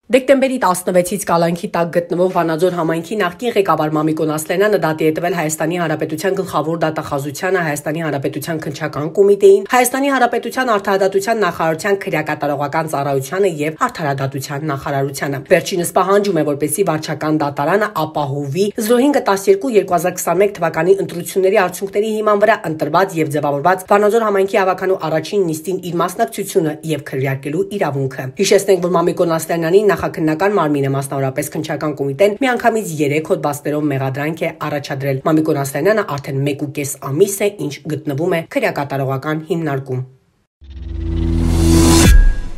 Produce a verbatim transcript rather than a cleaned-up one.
Դեկտեմբերի տասնվեցից կալանքի տակ գտնվող Վանաձոր համայնքի նախկին ղեկավար Մամիկոն Ասլենյանը դատի է տվել Հայաստանի Հանրապետության գլխավոր դատախազությանը, Հայաստանի Հանրապետության քննչական կոմիտեին, Հայաստանի Հանրապետության արդարադատության նախարարության քրեակատարողական ծառայությանը եւ արդարադատության նախարարությանը։ Վերջինս պահանջում է, որպեսզի վարչական դատարանը ապահովի զրո հինգ տասներկու երկու հազար քսաներեք թվականի ընտրությունների արդյունքների հիման վրա ընտրված եւ ձևավորված Վանաձոր համայնքի ավականու առաջին նիստին իր մասնակցությունը եւ քվեարկելու իրավունքը։ Հիշեցնենք, որ Մամիկոն Ասլենյանի նախաքննական մարմինը, մասնավորապես քննչական կոմիտեն, միանգամից երեք հոդվածներով մեղադրանք է առաջադրել։ Մամիկոն Ասլենյանը արդեն մեկ ու կես ամիս է, ինչ գտնվում է քրեակատարողական հիմնարկում։